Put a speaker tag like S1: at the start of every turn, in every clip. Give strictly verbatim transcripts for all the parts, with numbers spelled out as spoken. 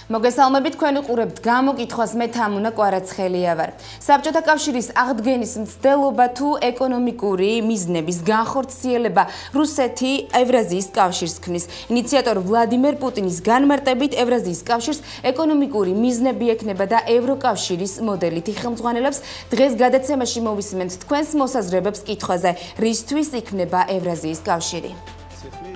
S1: მოგესალმებით, თქვენ უყურებთ გამოკითხვას, მე თამუნა კვარაცხელია ვარ. საბჭოთა კავშირის აღდგენის მცდელობა თუ ეკონომიკური მიზნების განხორციელება რუსეთი ევრაზიის კავშირს ქმნის. ინიციატორ ვლადიმერ პუტინის განმარტებით ევრაზიის კავშირს ეკონომიკური მიზნები ექნება და ევროკავშირის მოდელით იხელმძღვანელებს. დღეს გადაცემაში მოვისმენთ თქვენს მოსაზრებებს კითხვაზე, რისთვის იქნება ევრაზიის კავშირი.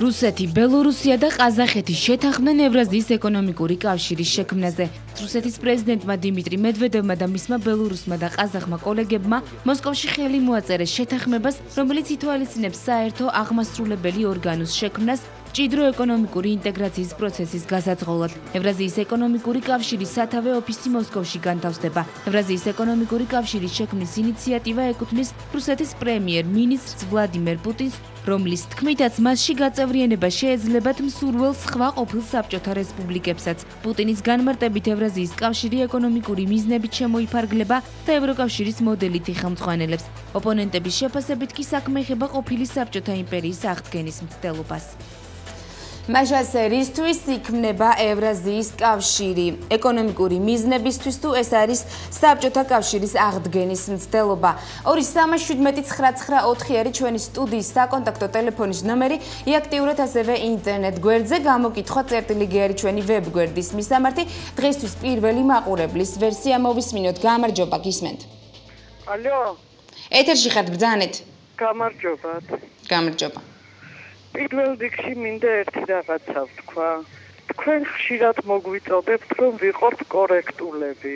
S1: რუსეთი, ბელორუსია და ყაზახეთი შეთანხმდნენ ევრაზიის ეკონომიკური კავშირის შექმნაზე. რუსეთის პრეზიდენტმა დიმიტრი მედვედევმა და მისმა ბელორუსმა და ყაზახმა კოლეგებმა მოსკოვში ხელი მოაწერეს შეთანხმებას, რომელიც ითვალისწინებს საერთო აღმასრულებელი ორგანოს შექმნას ჭიდრო ეკონომიკური ინტეგრაციის პროცესის გასაწყობად. ევრაზიის ეკონომიკური კავშირის სათავე ოფისი მოსკოვში განთავსდება. ევრაზიის ეკონომიკური კავშირის შექმნის ინიციატივა ეკუთვნის რუსეთის პრემიერ-მინისტრს ვლადიმერ პუტინს, რომლის თქმითაც მასში გაწევრიანება შეეძლებათ მსურველ სხვა ყოფილ საბჭოთა რესპუბლიკებსაც. პუტინის განმარტებით ევრაზიის კავშირი ეკონომიკური მიზნებით შემოიფარგლება და ევროკავშირის მოდელით იხელმძღვანელებს. ოპონენტების შეფასებით კი საქმე ეხება ყოფილი საბჭოთა იმპერიის აღდგენის მცდელობას. მაშას რისთვის იქნება ევრაზიის კავშირი? ეკონომიკური მიზნებისთვის თუ ეს არის საბჭოთა კავშირის აღდგენის მცდელობა? ორი სამი შვიდმეტი ცხრა ცხრა ოთხი არის ჩვენი სტუდიის საკონტაქტო ტელეფონის ნომერი. იაქტიუროთ ასევე ინტერნეტ გვერდზე, გამოკითხვა წერტილი გ არის ჩვენი ვებ გვერდის მისამართი. დღესთვის პირველი მაყურებლის ვერსია მოვისმინოთ. გამარჯობა, გისმენთ.
S2: ალო.
S1: ეთერში ხართ, ბრძანეთ.
S2: გამარჯობათ.
S1: გამარჯობა.
S2: პირველ რიგში მინდა ერთი რაღაცა ვთქვა. თქვენ ხშირად მოგვიწოდებთ, რომ ვიყოთ კორექტულები.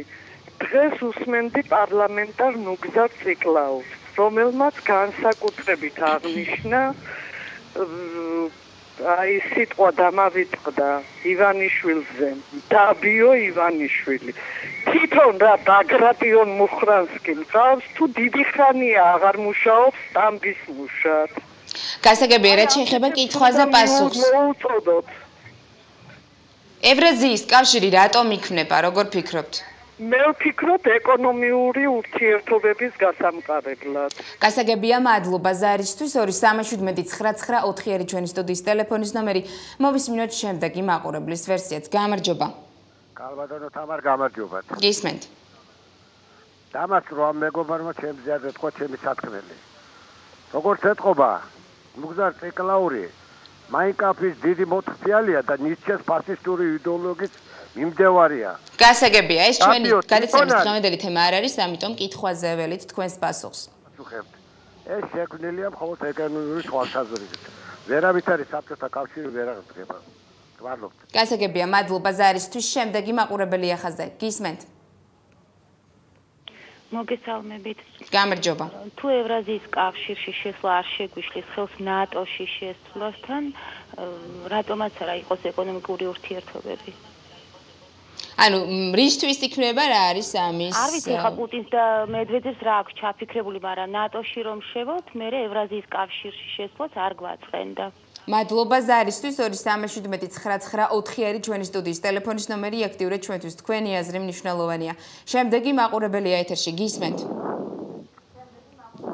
S2: დღეს usmendi პარლამენტარ ნუგზარ ციკლაუს, რომელმაც განსაკუთრებით აღნიშნა აი სიტყვა დამავიწყდა ივანიშვილზე, დაბიო ივანიშვილი. თვითონ რა ბაგრატიონ მუხრანსკი მყავს, თუ დიდი ხანია აღარ მუშაობს სტამბის მუშად.
S1: გასაგებია, რაც შეეხება კითხვაზე პასუხს. ევრაზიის კავშირი რატომ იქნება, როგორ ფიქრობთ?
S2: მე ვფიქრობ ეკონომიური ურთიერთობების გასამყარებლად.
S1: გასაგებია, მადლობა ზარისთვის. ორი სამი შვიდმეტი ცხრა ცხრა ოთხი არის ჩვენი სტუდიის ტელეფონის ნომერი. მოვისმინოთ შემდეგი მაყურებლის ვერსიაც. გამარჯობა.
S3: კალბატონო თამარ, გამარჯობათ.
S1: გისმენთ.
S3: დამას რომ მეგობარმა ჩემზე არ ეთქვა ჩემი სათქმელი. როგორც ეთყობა ნუგზარ ციკლაური მაინკაფის დიდი მოთხფიალია და ნიცშეს ფაშისტური იდეოლოგიის მიმდევარია.
S1: გასაგებია, ეს ჩვენი გადაცემის დღევანდელი თემა არ არის, ამიტომ კითხვაზე ველით თქვენს პასუხს.
S3: ეს შექმნილია მხოლოდ ეკონომიკური თვალსაზრისით. ვერავით არის საბჭოთა კავშირი ვერ აღდგება. მადლობთ.
S1: გასაგებია, მადლობა ზარისთვის. შემდეგი მაყურებელი ახაზე. გისმენთ.
S4: მოგესალმებით.
S1: გამარჯობა.
S4: თუ ევრაზიის კავშირში შესვლა არ შეგვიშლის ხელს ნატოში შესვლასთან, რატომაც არა იყოს ეკონომიკური ურთიერთობები?
S1: ანუ რისთვის იქნება, რა არის ამის?
S4: არ ვიცი, ხა პუტინს და მედვედევს რა აქვს ჩაფიქრებული, მაგრამ ნატოში რომ შევოთ, მე ევრაზიის კავშირში შესვლაც არ გვაწყენდა.
S1: მადლობა ზარისთვის. ორი სამი შვიდმეტი ცხრა ცხრა ოთხი არის ჩვენი სტუდიის ტელეფონის ნომერი. იაქტიურეთ ჩვენთვის, თქვენი აზრი მნიშვნელოვანია. შემდეგი მაყურებელია ეთერში. გისმენთ.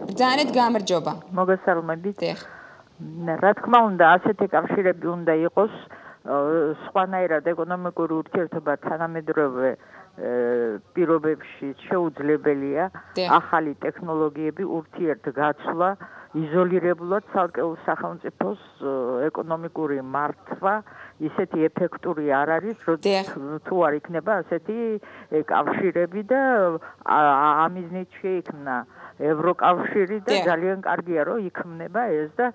S1: ბრძანეთ, გამარჯობა.
S5: მოგესალმებით. რა თქმა უნდა, ასეთი კავშირები უნდა იყოს, სხვანაირად ეკონომიკური ურთიერთობა თანამედროვე პირობებში შეუძლებელია. ახალი ტექნოლოგიები, ურთიერთგაცვლა, იზოლირებულად ცალკეულ სახელმწიფოს ეკონომიკური მართვა ისეთი ეფექტური არ არის, თუ არ იქნება ასეთი კავშირები და ამიზნით შეიქმნა ევროკავშირი და ძალიან კარგია, რომ იქმნება ეს და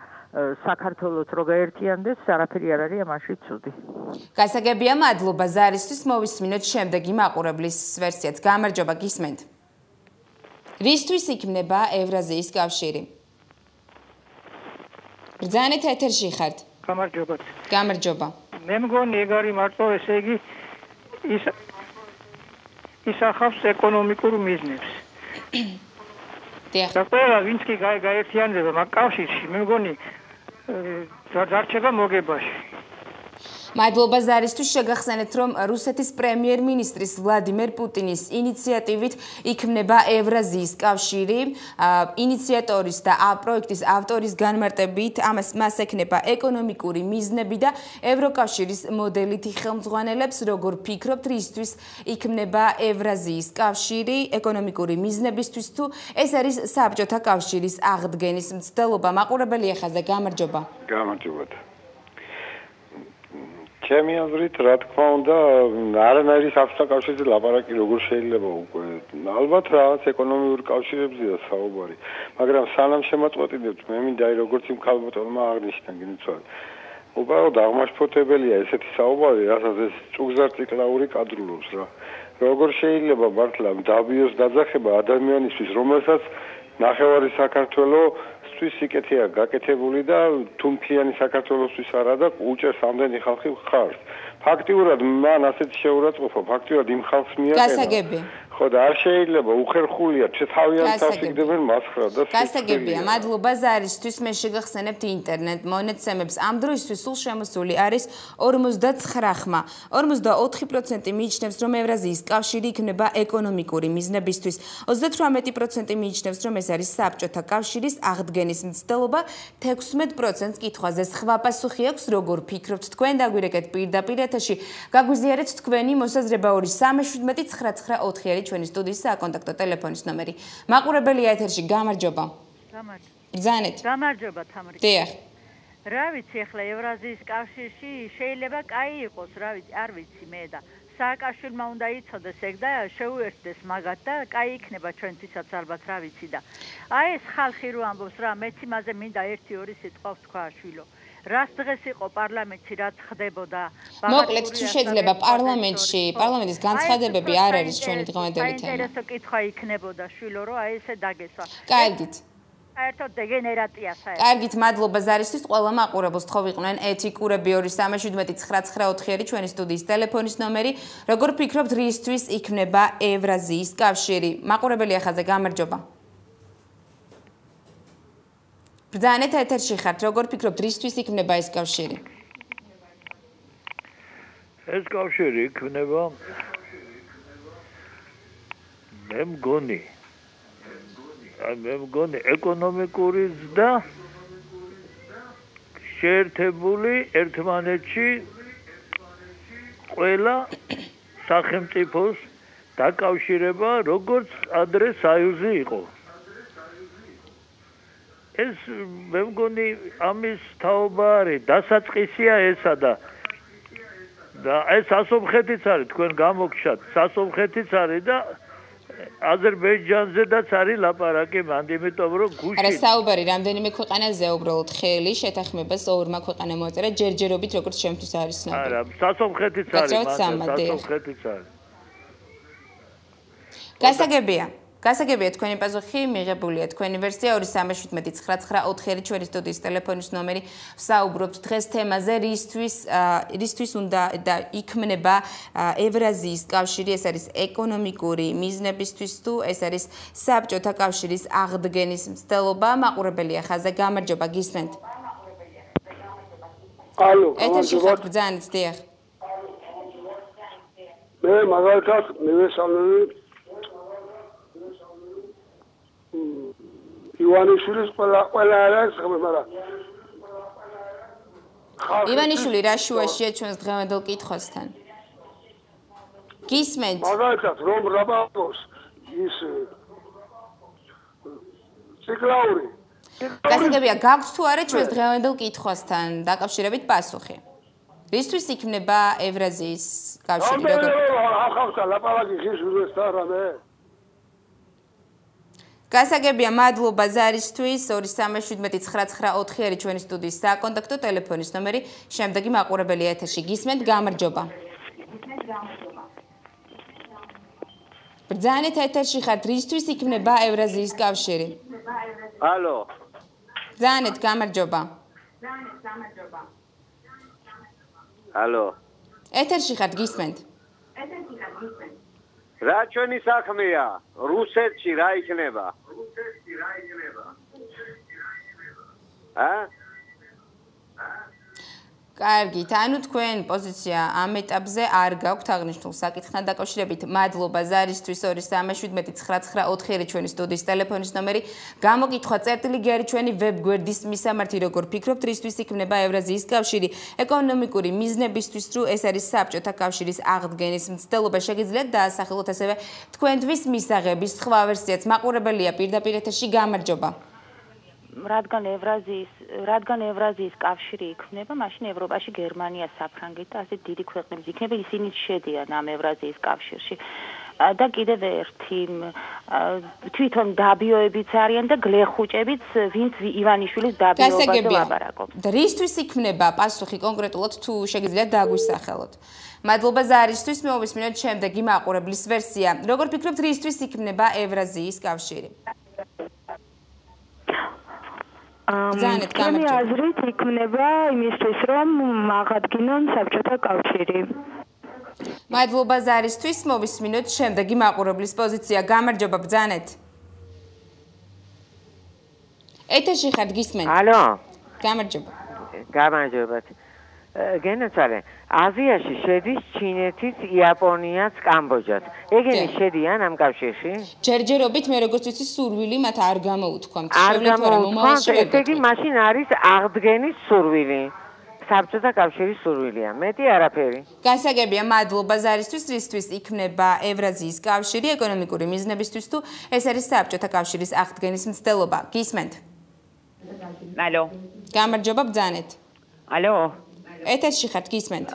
S5: საქართველოს რო გაერთიანდეს, არაფერი არ არის ამაში ცუდი.
S1: გასაგებია, მადლობა ზარისთვის. მოვისმინოთ შემდეგი მაყურებლის ვერსიაც. გამარჯობა, გისმენთ. რისთვის იქნება ევრაზიის კავშირი? ბრძანეთ, ეთერში ხართ.
S6: გამარჯობა.
S1: გამარჯობა.
S6: მე მგონი ეგ არის მარტო ესე იგი ის ისახავს ეკონომიკურ მიზნებს.
S1: დიახ.
S6: და ყველა ვინც კი გაერთიანდება მაგ კავშირში, მე მგონი დარჩება მოგებაში.
S1: მადლობა ზარისთვის. შეგახსენეთ, რომ რუსეთის პრემიერ-მინისტრის ვლადიმერ პუტინის ინიციატივით იქმნება ევრაზიის კავშირი. ინიციატორის და პროექტის ავტორის განმარტებით ამას მას ექნება ეკონომიკური მიზნები და ევროკავშირის მოდელით იხელმძღვანელებს. როგორ ფიქრობთ, რისთვის იქმნება ევრაზიის კავშირი ეკონომიკური მიზნებისთვის თუ ეს არის საბჭოთა კავშირის აღდგენის მცდელობა? მაყურებელი ეხაზე, გამარჯობა.
S3: გამარჯობათ. ჩემი აზრით, რა თქმა უნდა, არანაირი საბჭოთა კავშირზე ლაპარაკი როგორ შეიძლება უკვე. ალბათ რაღაც ეკონომიური კავშირებზეა საუბარი, მაგრამ სანამ შემაწყვეტინებთ, მე მინდა როგორც იმ ქალბატონმა აღნიშნა, გინცვალე. უბრალოდ აღმაშფოთებელია ესეთი საუბარი, რასაც ეს წუგზარწიკლაური კადრულობს რა. როგორ შეიძლება მართლა დაბიოს დაძახება ადამიანისთვის, რომელსაც ნახევარი საქართველოს სიკეთეა გაკეთებული და თუმთიანი საქართველოსთვის არა და უჭერს ამდენი ხალხი ხარს. ფაქტიურად მან ასეთი შეურაცხყოფა, ფაქტიურად იმ ხალხს მიაყენა.
S1: გასაგები.
S3: ხო და არ შეიძლება უხერხულია, თავიანთ თავს იგდებენ მასხრა და
S1: გასაგებია. მადლობა ზარისთვის. მე შეგახსენებთ ინტერნეტ მონაცემებს. ამ დროისთვის სულ შემოსული არის ორმოცდაცხრა ხმა. ორმოცდაოთხი პროცენტი მიიჩნევს, რომ ევრაზიის კავშირი იქნება ეკონომიკური მიზნებისთვის. ოცდათვრამეტი პროცენტი მიიჩნევს, რომ ეს არის საბჭოთა კავშირის აღდგენის მცდელობა. თექვსმეტ პროცენტს კითხვაზე სხვა პასუხი აქვს. როგორ ფიქრობთ თქვენ? დაგვირეკეთ პირდაპირ ეთერში. გაგვიზიარეთ თქვენი მოსაზრება ორი სამი შვიდმეტი ცხრა ცხრა ოთხი არის ჩვენი სტუდიის საკონტაქტო ტელეფონის ნომერი. მაყურებელია ეთერში, გამარჯობა.
S7: გამარჯობა.
S1: ბრძანეთ.
S7: გამარჯობა თამარი.
S1: დიახ.
S7: რა ვიცი, ახლა ევრაზიის კავშირში შეიძლება კაი იყოს, რა ვიცი, არ ვიცი მე და სააკაშვილმა უნდა იცოდეს ეგ და შეუერთდეს მაგათ და კაი იქნება ჩვენთვისაც ალბათ, რა ვიცი და აი ეს ხალხი რო ამბობს რა, მეც იმაზე მინდა ერთი ორი სიტყვა ვთქვა შვილო. რას დღეს იყო პარლამენტში რაც ხდებოდა?
S1: მოკლედ თუ შეიძლება პარლამენტში, პარლამენტის განცხადებები არ არის ჩვენი დღევანდელი თემა.
S7: საინტერესო კითხვა იქნებოდა შვილო, რომ აი ესე დაგესვა.
S1: კარგით.
S7: საერთოდ დეგენერატია საერთოდ.
S1: კარგით, მადლობა ზარისთვის. ყველა მაყურებელს თხოვ იყვნენ ეთიკურები ორი სამი შვიდმეტი ცხრა ცხრა ოთხი არის ჩვენი სტუდიის ტელეფონის ნომერი. როგორ ფიქრობთ, რისთვის იქნება ევრაზიის კავშირი? მაყურებელი ახაზე, გამარჯობა. ბრძანეთ ეთერში ხართ, როგორ ფიქრობთ, რისთვის იქნება ეს კავშირი?
S6: ეს კავშირი იქნება მე მგონი მე მგონი ეკონომიკური ზრდა შეერთებული ერთმანეთში ყველა სახელმწიფოს დაკავშირება, როგორც ადრე საიუზი იყო. ეს მე მგონი ამის თაობა არის, დასაწყისია ესა და და ეს ასომხეთიც არის, თქვენ გამოგჩათ, სასომხეთიც არის და აზერბაიჯანზედაც არის ლაპარაკი მანდ, იმიტომ რომ გუში
S1: არა საუბარი რამდენიმე ქვეყანაზეა უბრალოდ ხელი შეთანხმებას ორმა ქვეყანამ მოაწერა ჯერჯერობით, როგორც ჩემთვის არის ცნობილი.
S6: არა, სასომხეთიც არის, სასომხეთიც არის.
S1: გასაგებია. გასაგებია თქვენი პასუხი, მიღებულია თქვენი ვერსია ორი სამი შვიდმეტი ცხრა ცხრა ოთხი არის ჩვენი სტუდიის ტელეფონის ნომერი. ვსაუბრობთ დღეს თემაზე, რისთვის რისთვის უნდა და იქმნება ევრაზიის კავშირი, ეს არის ეკონომიკური მიზნებისთვის თუ ეს არის საბჭოთა კავშირის აღდგენის მცდელობა. მაყურებელია ხაზე, გამარჯობა, გისმენთ.
S8: ალო,
S1: ეთერში ხართ, ბრძანეთ, დიახ.
S8: მე მაგალითად მივესალმები ივანიშვილის ყველა ყველა არის, მაგრამ
S1: ივანიშვილი რა შუაშია ჩვენს დღევანდელ კითხვასთან? გისმენთ?
S8: მაგალითად რომ რაბაკოს ის ციკლაური.
S1: გასაგებია, გაქვთ თუ არა ჩვენს დღევანდელ კითხვასთან დაკავშირებით პასუხი? რისთვის იქნება ევრაზიის კავშირი?
S8: როგორ ახავსა ლაპარაკი ხის უსთან რამე?
S1: გასაგებია, მადლობა ზარისთვის. ორი სამი შვიდმეტი ცხრა ცხრა ოთხი არის ჩვენი სტუდიის საკონტაქტო ტელეფონის ნომერი. შემდეგი მაყურებელი ეთერში, გისმენთ, გამარჯობა. ბრძანეთ ეთერში ხართ, რისთვის იქნება ევრაზიის კავშირი?
S8: ალო.
S1: ბრძანეთ, გამარჯობა.
S8: ალო.
S1: ეთერში ხართ, გისმენთ.
S8: რა ჩვენი საქმეა? რუსეთში რა იქნება? რუსეთში რა იქნება? ა?
S1: კარგით, ანუ თქვენ პოზიცია ამ ეტაპზე არ გაქვთ აღნიშნულ საკითხთან დაკავშირებით. მადლობა ზარისთვის ორი სამი შვიდმეტი ცხრა ცხრა ოთხი ჩვენი სტუდიის ტელეფონის ნომერი. გამოკითხვა წერტილი არის ჩვენი ვებგვერდის მისამართი, როგორ ფიქრობთ, რისთვის იქნება ევრაზიის კავშირი ეკონომიკური მიზნებისთვის, თუ ეს არის საბჭოთა კავშირის აღდგენის მცდელობა. შეგიძლიათ დაასახელოთ ასევე თქვენთვის მისაღების სხვა ვერსიაც. მაყურებელია პირდაპირ ეთერში, გამარჯობა.
S4: რადგან ევრაზიის რადგან ევრაზიის კავშირი იქმნება, მაშინ ევროპაში გერმანია, საფრანგეთი და ასე დიდი ქვეყნები იქნება, ისინი შედიან ამ ევრაზიის კავშირში. და კიდევ ერთი თვითონ დაბიოებიც არიან და გლეხუჭებიც, ვინც ივანიშვილის დაბიოებაზე ლაპარაკობს.
S1: რისთვის იქმნება პასუხი კონკრეტულად, თუ შეგიძლიათ დააგვისახელოთ? მადლობა ზარისთვის, მოვისმინოთ შემდეგი მაყურებლის ვერსია. როგორ ფიქრობთ, რისთვის იქმნება ევრაზიის კავშირი?
S9: ჩემი აზრით იქნება იმისთვის, რომ აღადგინონ საბჭოთა კავშირი.
S1: მადლობა ზარისთვის, მოვისმინოთ შემდეგი მაყურებლის პოზიცია. გამარჯობა, ბრძანეთ. ეთერში ხართ, გისმენთ?
S10: ალო.
S1: გამარჯობა.
S10: გამარჯობა. გენაცვალე, აზიაში შედის ჩინეთიც, იაპონიაც, კამბოჯაც. ეგენი შედიან ამ კავშირში?
S1: ჯერჯერობით მე როგორც ვიცი, სურვილი მათ არ გამოუთქვამთ.
S10: არ გამოუთქვამთ, ესე იგი მაშინ არის აღდგენის სურვილი. საბჭოთა კავშირის სურვილია. მეტი არაფერი.
S1: გასაგებია, მადლობა ზარისთვის, რისთვის იქმნება ევრაზიის კავშირი ეკონომიკური მიზნებისთვის, თუ ეს არის საბჭოთა კავშირის აღდგენის მცდელობა. გისმენთ?
S11: ალო.
S1: გამარჯობა, ბრძანეთ.
S11: ალო.
S1: ეთერში ხართ, გისმენთ?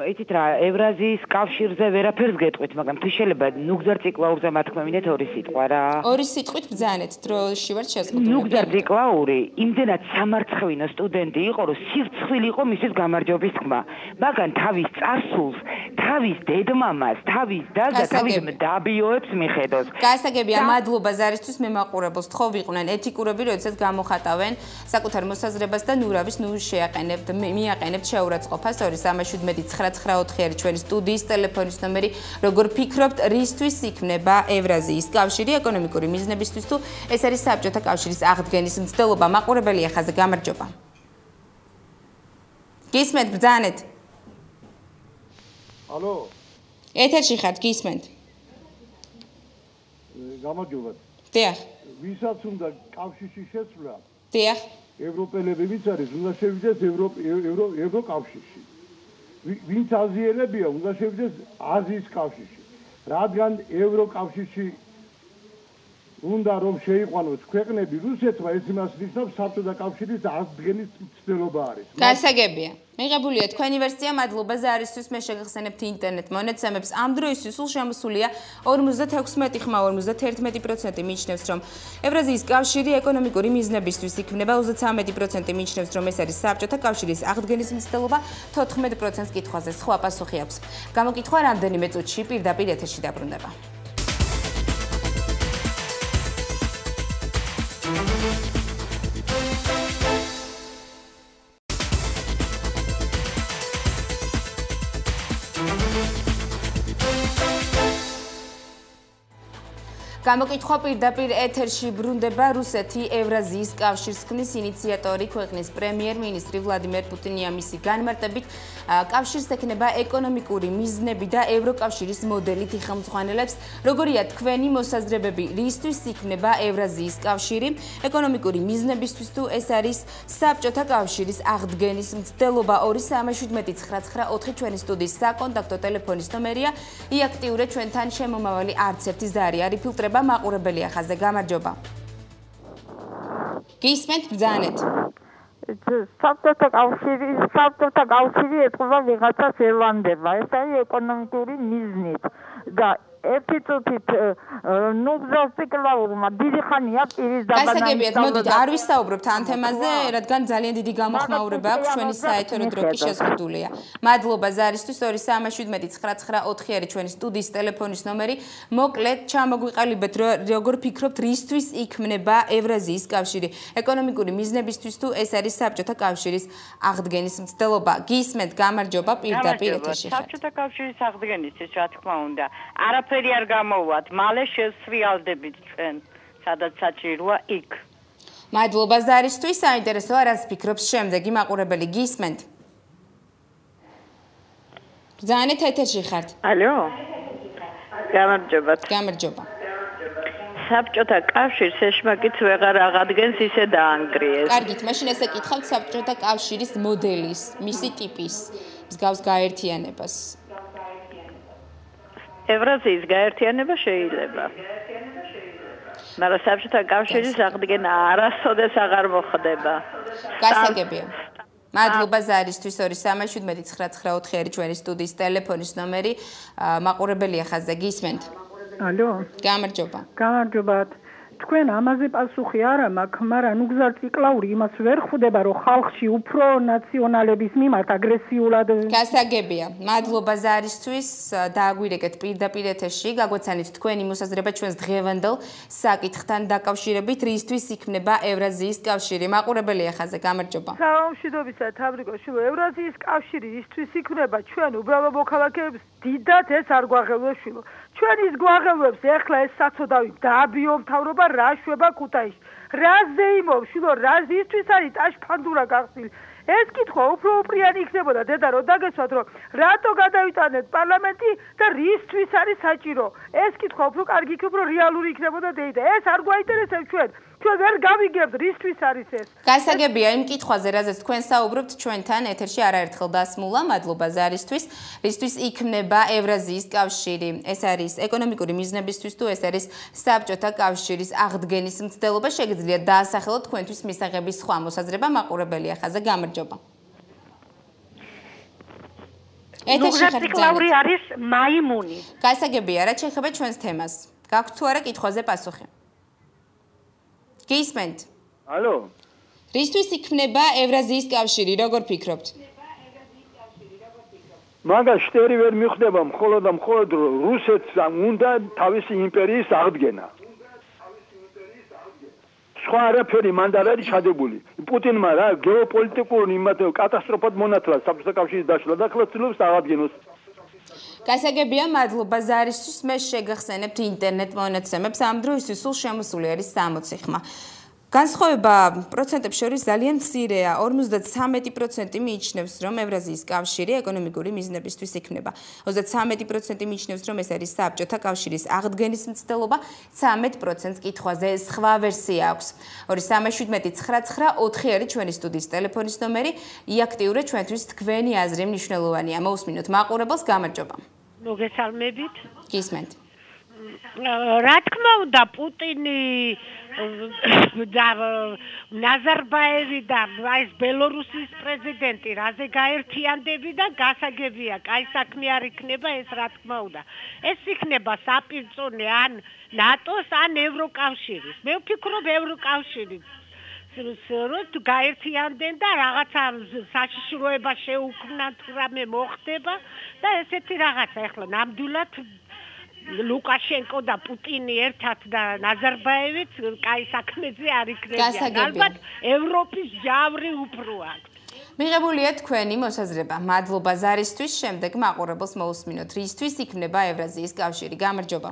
S11: იცით რა, ევრაზიის კავშირზე ვერაფერს გეტყვით, მაგრამ თუ შეიძლება ნუგზარ ციკლაურზე მათქმა მინდეთ ორი სიტყვა რა.
S1: ორი სიტყვით ბრძანეთ, დროში ვარ შეზღუდული.
S11: ნუგზარ ციკლაური იმდენად სამარცხვინო სტუდენტი იყო, რომ სირცხვილი იყო მისის გამარჯვების თქმა. მაგრამ თავის წარსულს, თავის დედმამას, თავის დას და თავის დაბიოებს მიხედოს.
S1: გასაგებია, მადლობა ზარისთვის, მე მაყურებელს თხოვ ვიყვნენ ეთიკურები, როდესაც გამოხატავენ საკუთარ მოსაზრებას და ნურავის ნუ შეაყენებთ, მიაყენებთ შეურაცხყოფას ორი სამი შვიდმეტი ცხრა ცხრა ოთხი არის ჩვენი სტუდიის ტელეფონის ნომერი. როგორ ფიქრობთ, რისთვის იქმნება ევრაზიის კავშირი ეკონომიკური მიზნებისთვის, თუ ეს არის საბჭოთა კავშირის აღდგენის მცდელობა? მაყურებელი ახაზე, გამარჯობა. გისმენთ, ბრძანეთ.
S3: ალო.
S1: ეთერში ხართ, გისმენთ.
S3: გამარჯობა.
S1: დიახ.
S3: ვისაც უნდა კავშირში შეცვლა?
S1: დიახ.
S3: ევროპელები ვინც არის, უნდა შევიდეს ევრო ევროკავშირში. ვინც აზიელებია, უნდა შევიდეს აზიის კავშირში. რადგან ევროკავშირში უნდა რომ შეიყვანოს ქვეყნები, რუსეთმა ეს იმას ნიშნავს, საბჭოთა კავშირის აღდგენის მცდელობა არის.
S1: გასაგებია. მიღებულია თქვენი ვერსია, მადლობა ზარისთვის, მე შეგახსენებთ ინტერნეტ მონაცემებს. ამ დროისთვის სულ შემოსულია ორმოცდათექვსმეტი ხმა ორმოცდაერთმეტი პროცენტი მიიჩნევს, რომ ევრაზიის კავშირი ეკონომიკური მიზნებისთვის იქმნება, ოცდათრამეტი პროცენტი მიიჩნევს, რომ ეს არის საბჭოთა კავშირის აღდგენის მცდელობა, თოთხმეტ პროცენტს კითხვაზე სხვა პასუხი აქვს. გამოკითხვა რამდენიმე წუთში პირდაპირ ეთერში დაბრუნდება. გამოკითხვა პირდაპირ ეთერში ბრუნდება. რუსეთი ევრაზიის კავშირს ქმნის ინიციატორი ქვეყნის პრემიერ-მინისტრი ვლადიმერ პუტინია მისი განმარტებით კავშირს ექნება ეკონომიკური მიზნები და ევროკავშირის მოდელით იხელმძღვანელებს. როგორია თქვენი მოსაზრებები, რისთვის იქმნება ევრაზიის კავშირი ეკონომიკური მიზნებისთვის, თუ ეს არის საბჭოთა კავშირის აღდგენის მცდელობა? ორი სამი შვიდმეტი ცხრა ცხრა ოთხი ჩვენი სტუდიის საკონტაქტო ტელეფონის ნომერია. იაქტიურეთ ჩვენთან შემომავალი არც ერთი ზარი არ იფილტრება. მაყურებელი ახაზე, გამარჯობა. გისმენთ, ბრძანეთ.
S5: საბჭოთა კავშირი, საბჭოთა კავშირი ეთქვა ვიღაცას ელანდება. ეს არის ეკონომიკური მიზნით და ერთი წუთით ნუგზარ ციკლაურმა დიდი ხანია პირის დაბანაკი.
S1: გასაგებიათ, მოდით არ ვისაუბრებთ ამ თემაზე, რადგან ძალიან დიდი გამოხმაურება აქვს, ჩვენი საეთერო დრო კი შეზღუდულია. მადლობა ზარისთვის, ორი სამი შვიდმეტი ცხრა ცხრა ოთხი არის ჩვენი სტუდიის ტელეფონის ნომერი. მოკლედ ჩამოგვიყალიბეთ, როგორ ფიქრობთ, რისთვის იქმნება ევრაზიის კავშირი ეკონომიკური მიზნებისთვის, თუ ეს არის საბჭოთა კავშირის აღდგენის მცდელობა? გისმენთ, გამარჯობა, პირდაპირ ეთერში ხართ.
S12: საბჭოთა კავშირის აღდგენისთვის, რა თქმა უნდა, არაფერი არ გამოვათ, მალე შევსრიალდებით ჩვენ, სადაც საჭიროა იქ.
S1: მადლობა ზარისთვის, საინტერესოა, რას ფიქრობს შემდეგი მაყურებელი? გისმენთ. ბრძანეთ ეთერში ხართ.
S12: ალო. გამარჯობათ.
S1: გამარჯობა.
S12: საბჭოთა კავშირს ეშმაკიც ვეღარ აღადგენს ისე დაანგრიეს.
S1: კარგით, მაშინ ესე კითხავთ საბჭოთა კავშირის მოდელის, მისი ტიპის მსგავს გაერთიანებას.
S12: ევრაზიის გაერთიანება შეიძლება. მაგრამ საბჭოთა კავშირის აღდგენა არასოდეს აღარ მოხდება.
S1: გასაგებია. მადლობა ზარისთვის ორი სამი შვიდმეტი ცხრა ცხრა ოთხი არის ჩვენი სტუდიის ტელეფონის ნომერი. მაყურებელია ხაზზე გისმენთ.
S13: ალო.
S1: გამარჯობა.
S13: გამარჯობათ. თქვენ ამაზე პასუხი არ მაქვს, მაგრამ ნუ გზართ ვიკლაური იმას ვერ ხვდება, რომ ხალხში უფრო ნაციონალების მიმართ აგრესიულად
S1: გასაგებია. მადლობა ზარისთვის. დააგვირეკეთ პირდაპირ ეთერში, გაგვეცანით თქვენი მოსაზრება ჩვენს დღევანდელ საკითხთან დაკავშირებით, რისთვის იქნება ევრაზიის კავშირი. მაყურებელია ხაზზე, გამარჯობა.
S14: საომშვიდობისა თაბრიკოში, ევრაზიის კავშირი ისთვის იქნება ჩვენ უბრალო მოქალაქეებს დიდად ეს არ გვაღელვებშილო. ჩვენ ის გვაღელვებს ეხლა ეს საცოდავი დააბიო მთავრობა რა შვება ქუთაისში. რა ზეიმობშილო, რა ისთვის არის ტაშფანდურა გახსნილი. ეს კითხვა უფრო უპრიანი იქნებოდა დედა რომ დაგესვათ რომ რატო გადავიტანეთ პარლამენტი და რისთვის არის საჭირო. ეს კითხვა უფრო კარგი იქნება რომ რეალური იქნებოდა დედა. ეს არ გვაინტერესებს ჩვენ. ჩვენ ვერ გავიგებთ რისთვის არის ეს.
S1: გასაგებია იმ კითხვაზე, რაზეც თქვენ საუბრობთ, ჩვენთან ეთერში არაერთხელ დასმულა. მადლობა ზარისთვის. რისთვის იქნება ევრაზიის კავშირი? ეს არის ეკონომიკური მიზნებისთვის თუ ეს არის საბჭოთა კავშირის აღდგენის მცდელობა? შეგიძლიათ დაასახელოთ თქვენთვის მისაღების სხვა მოსაზრება. მაყურებელია ხაზზე, გამარჯობა. ეთერში ხართ
S15: კლაური არის მაიმუნი.
S1: გასაგებია, რა შეეხება ჩვენს თემას? გაქვთ თუ არა კითხვაზე პასუხი? გისმენთ?
S6: ალო.
S1: რისთვის იქნება ევრაზიის კავშირი, როგორ ფიქრობთ?
S6: მაგას შტერი ვერ მიხვდება, მხოლოდ და მხოლოდ რუსეთს უნდა თავისი იმპერიის აღდგენა. სხვა არაფერი მანდ არ არის ჩადებული. პუტინმა რა გეოპოლიტიკურ იმათ კატასტროფად მონათლა საბჭოთა კავშირის დაშლა და ახლა ცდილობს აღადგენოს.
S1: გასაგებია, მადლობა ზარისთვის. მე შეგახსენებთ ინტერნეტ მონაცემებს. ამ დროისთვის სულ შემოსული არის სამოცი ხმა. განსხვავება პროცენტებს შორის ძალიან მცირეა. ორმოცდათრამეტი პროცენტი მიიჩნევს, რომ ევრაზიის კავშირი ეკონომიკური მიზნებისთვის იქნება. ოცდათრამეტი პროცენტი მიიჩნევს, რომ ეს არის საბჭოთა კავშირის აღდგენის მცდელობა. ცამეტ პროცენტს კითხვაზე სხვა ვერსია აქვს. ორი სამი შვიდმეტი ცხრა ცხრა ოთხი არის ჩვენი სტუდიის ტელეფონის ნომერი. იაქტიურეთ ჩვენთვის თქვენი აზრი მნიშვნელოვანია. მოусმინოთ მაყურებელს, გამარჯობა.
S15: მოგესალმებით.
S1: გისმენთ.
S15: რა თქმა უნდა, პუტინი და ნაზარბაევი და ეს ბელორუსის პრეზიდენტი რაზე გაერთიანდები და გასაგებია, კაი საქმე არ იქნება ეს რა თქმა უნდა. ეს იქნება საპირწონე ან ნატოს ან ევროკავშირის. მე ვფიქრობ ევროკავშირის რომ გაერთიანდენ და რაღაცა საშიშროება შეუქმნათ, რამე მოხდება და ესეთი რაღაცა ახლა ნამდვილად ლუკაშენკო და პუტინი ერთად და ნაზარბაევიც კაი საქმეზე არ იქნებიან. ალბათ ევროპის ჯავრი უფრო აქვს.
S1: მიღებულია თქვენი მოსაზრება. მადლობა ზარისთვის. შემდეგ მაყურებელს მოусმინოთ. რისთვის იქნება ევრაზიის კავშირი? გამარჯობა.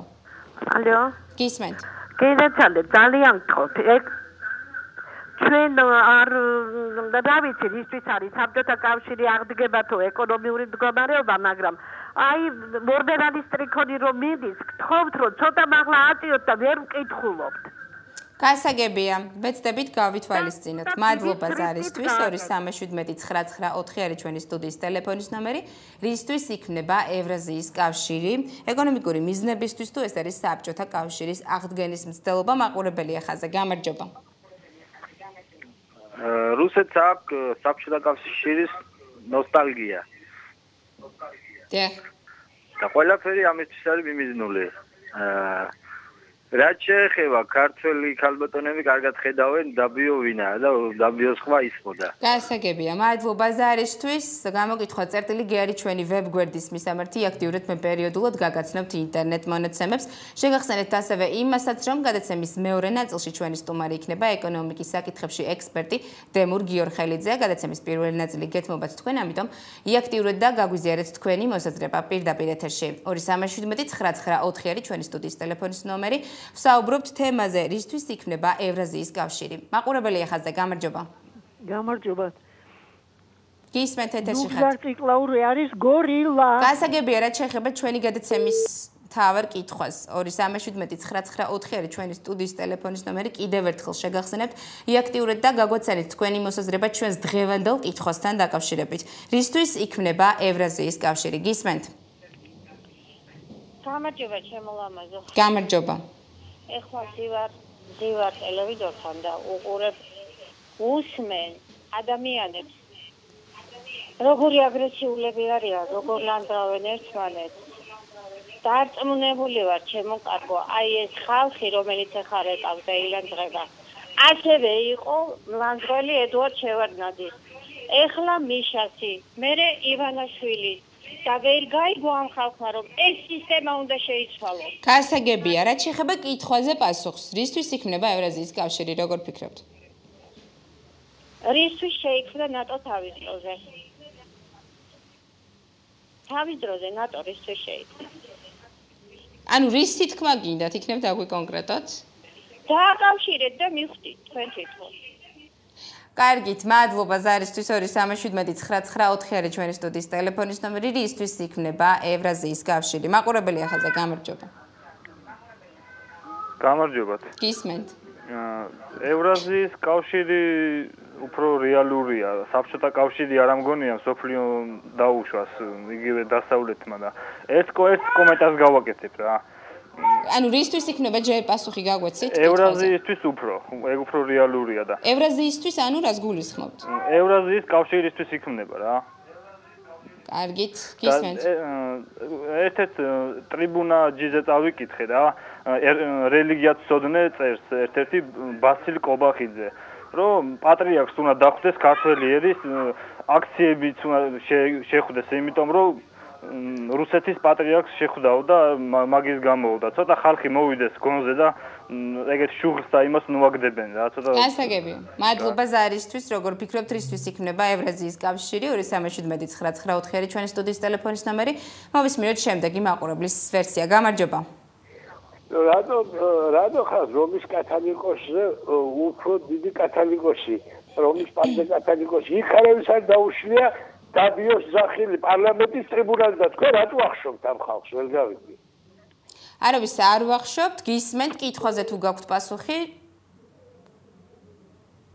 S10: ალო.
S1: გისმენთ.
S10: გეცადეთ, ძალიან გთხოვთ. ჩვენ არ და ვიცი რისთვის არის საბჭოთა კავშირი აღდგება თუ ეკონომიური მდგომარეობა, მაგრამ აი მორბერანის ტრიქონი რომ მიდის, გთხოვთ რომ ცოტა მაღლა აწიოთ და ვერ ვკითხულობთ.
S1: გასაგებია, ვეცდებით გავითვალისწინოთ. მადლობა ზარისთვის. ორი სამი შვიდმეტი ცხრა ცხრა ოთხი არის ჩვენი სტუდიის ტელეფონის ნომერი. რისთვის იქნება ევრაზიის კავშირი? ეკონომიკური მიზნებისთვის თუ ეს არის საბჭოთა კავშირის აღდგენის მცდელობა? მაყურებელია ხაზზე, გამარჯობა.
S16: რუსეთს აქვს საბჭოთა კავშირის ნოსტალგია.
S1: დიახ.
S16: და ყველაფერი ამისთვის არის მიმიზნული. რაც შეეხება ქართველი ქალბატონები კარგად ხედავენ დაბიო ვინაა და დაბიოს ხმა ისმოდა.
S1: გასაგებია, მადლობა ზარისთვის. გამოგითხვა წერტილი გი არის ჩვენი ვებგვერდის მისამართი. აქტიურეთ მე პერიოდულად გაგაცნობთ ინტერნეტ მონაცემებს. შეგახსენებთ ასევე იმასაც, რომ გადაცემის მეორე ნაწილში ჩვენი სტუმარი იქნება ეკონომიკის საკითხებში ექსპერტი დემურ გიორხელიძე. გადაცემის პირველი ნაწილი გეთმობათ თქვენ, ამიტომ იაქტიურეთ და გაგვიზიარეთ თქვენი მოსაზრება პირდაპირ ეთერში. ორი სამი შვიდმეტი ცხრა ცხრა ოთხი არის ჩვენი სტუდიის ტელეფონის ნომერი. ვსაუბრობთ თემაზე, რისთვის იქნება ევრაზიის კავშირი. მაყურებელია ხაზზე, გამარჯობა.
S14: გამარჯობა.
S1: გისმენთ ეთერში ხართ.
S14: ნუგზარ ციკლაური არის გორილა.
S1: გასაგებია რა შეეხება ჩვენი გადაცემის თავარ კითხვას. ორი სამი შვიდმეტი ცხრა ცხრა ოთხი არის ჩვენი სტუდიის ტელეფონის ნომერი. კიდევ ერთხელ შეგახსენებთ, იაქტიურეთ და გაგვაცანით თქვენი მოსაზრება ჩვენს დღევანდელ კითხვასთან დაკავშირებით. რისთვის იქმნება ევრაზიის კავშირი? გისმენთ?
S17: გამარჯობა ჩემო ლამაზო.
S1: გამარჯობა.
S17: ეხლა ვარ ვარ ტელევიზორთან და უყურებ უსმენ ადამიანებს როგორი აგრესიულები არიან, როგორ ლანდრავენ ერთმანეთს. დარწმუნებული ვარ ჩემო კარგო, აი ეს ხალხი რომელიც ახლა ეკავს და ილანდღება. ასევე იყო ლანდრელი ედუარდ შევარდნაძის. ეხლა მიშასი, მერე ივანაშვილი და ვერ გაიგო ამ ხალხმა რომ ეს სისტემა უნდა შეიცვალოს.
S1: გასაგებია, რაც შეეხება კითხვაზე პასუხს, რისთვის იქმნება ევრაზიის კავშირი, როგორ ფიქრობთ?
S17: რისთვის შეიქმნა ნატო თავის დროზე? თავის დროზე ნატო რისთვის შეიქმნა?
S1: ანუ რის თქმა გინდათ, იქნებ დაგვი კონკრეტად?
S17: დააკავშირეთ და მიხვდით თქვენ თვითონ.
S1: კარგით, მადლობა ზარისთვის ორი სამი შვიდმეტი ცხრა ცხრა ოთხი არის ჩვენი სტუდიის ტელეფონის ნომერი, რისთვის იქმნება ევრაზიის კავშირი. მაყურებელი ახალზე გამარჯობა.
S16: გამარჯობათ.
S1: გისმენთ.
S16: ევრაზიის კავშირი უფრო რეალურია. საბჭოთა კავშირი არ ამგონია სოფლიო დაუშვას იგივე დასავლეთმა და ეს ეს კომენტარს გავაკეთებ რა.
S1: ანუ რისთვის იქნება ჯერ პასუხი გაგვეცით?
S16: ევრაზიისთვის უფრო, ეგ უფრო რეალურია და.
S1: ევრაზიისთვის ანუ რას გულისხმობთ?
S16: ევრაზიის კავშირისთვის იქმნება რა.
S1: კარგით, გისმენთ.
S16: ერთ-ერთ ტრიბუნა ჯიზე წავიკითხე და რელიგიათ სოდნე წერს ერთ-ერთი ბასილ კობახიძე, რომ პატრიარქს უნდა დახვდეს ქართველი ერის აქციებიც უნდა შეხვდეს, იმიტომ რომ რუსეთის პატრიარქს შეხვდაო და მაგის გამოვდა. ცოტა ხალხი მოვიდეს გონზე და ეგეთ შუღლს და იმას ნუაგდებენ რა, ცოტა.
S1: გასაგებია. მადლობა ზარისთვის, როგორ ფიქრობთ, რისთვის იქმნება ევრაზიის კავშირი? ორი სამი შვიდმეტი ცხრა ცხრა ოთხი არის ჩვენი სტუდიის ტელეფონის ნომერი. მოვისმინოთ შემდეგი მაყურებლის ვერსია. გამარჯობა.
S18: რადო რადო ხარ რომის კათოლიკოსზე უფრო დიდი კათოლიკოსი, რომის პანზე კათოლიკოსი, იქ არავის არ დაუშლია დაბიოს ზახილი პარლამენტის ტრიბუნაზე და თქვენ რატო ახშობთ ამ ხალხს, ვერ გავიგე.
S1: არავის არ ვახშობთ, გისმენთ კითხვაზე თუ გაქვთ პასუხი?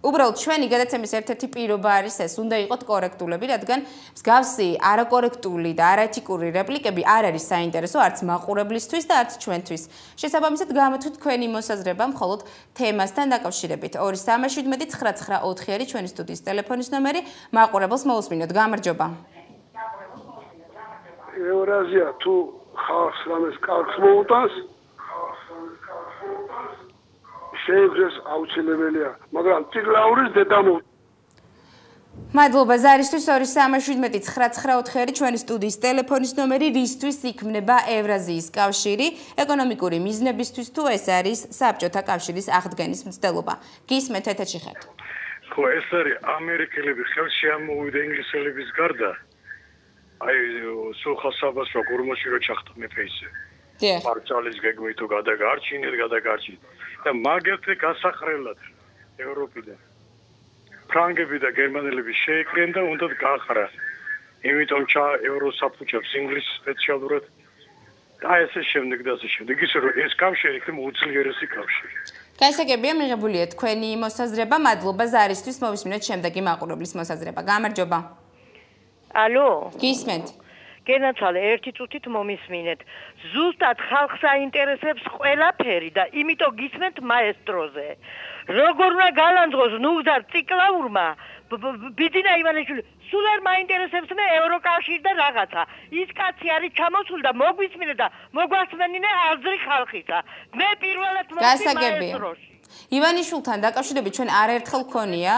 S1: უბრალოდ ჩვენი გადაცემის ერთ-ერთი პირობა არის ეს, უნდა იყოთ კორექტულები, რადგან მსგავსი არაკორექტული და არაეთიკური რეპლიკები არ არის საინტერესო არც მაყურებლისთვის და არც ჩვენთვის. შესაბამისად, გამოთქვით თქვენი მოსაზრება მხოლოდ თემასთან დაკავშირებით. ორი სამი შვიდმეტი ცხრა ცხრა ოთხი არის ჩვენი სტუდიის ტელეფონის ნომერი. მაყურებელს მოусმინოთ. გამარჯობა.
S18: ევრაზია თუ ხალხს რამეს კარგს მოუტანს, შეიგდეს აუცილებელია, მაგრამ ციკლაურის დედამო.
S1: მადლობა ზარისთვის ორი სამი შვიდმეტი ცხრა ცხრა ოთხი არის ჩვენი სტუდიის ტელეფონის ნომერი, რისთვის იქმნება ევრაზიის კავშირი, ეკონომიკური მიზნებისთვის თუ ეს არის საბჭოთა კავშირის აღდგენის მცდელობა. გისმენთ ეთერში ხართ.
S19: ხო, ეს არის ამერიკელები ხელში ამოვიდა ინგლისელების გარდა. აი, სულხასაბას როგორ მოსირო ჩახტა მეფეისე.
S1: დიახ.
S19: პარჩალის გეგმით თუ გადაგარჩინეთ, გადაგარჩინეთ. და მაგერტე გასახრელად ევროპიდან ფრანგები და გერმანელები შეიკრენ და უნდათ გაახრა. იმიტომ ჩა ევროსაფუჭებს ინგლისს სპეციალურად და ესე შემდეგ და ასე შემდეგ. ისე რომ ეს კავშირი იქნება უძლიერესი კავშირი.
S1: გასაგებია მიღებულია თქვენი მოსაზრება. მადლობა ზარისთვის, მოვისმინოთ შემდეგი მაყურებლის მოსაზრება. გამარჯობა.
S20: ალო.
S1: გისმენთ.
S20: გენაცვალე ერთი წუთით მომისმინეთ. ზუსტად ხალხს აინტერესებს ყველაფერი და იმიტომ გისმენთ მაესტროზე. როგორ უნდა გალანძღოს ნუგზარ ციკლაურმა ბიძინა ივანიშვილი სულ არ მაინტერესებს მე ევროკავშირი და რაღაცა. ის კაცი არის ჩამოსული და მოგვისმინეთ და მოგვასმენინე აზრი ხალხისა. მე პირველად მომწი მაესტროში.
S1: ივანიშვილთან დაკავშირებით ჩვენ არაერთხელ გქონია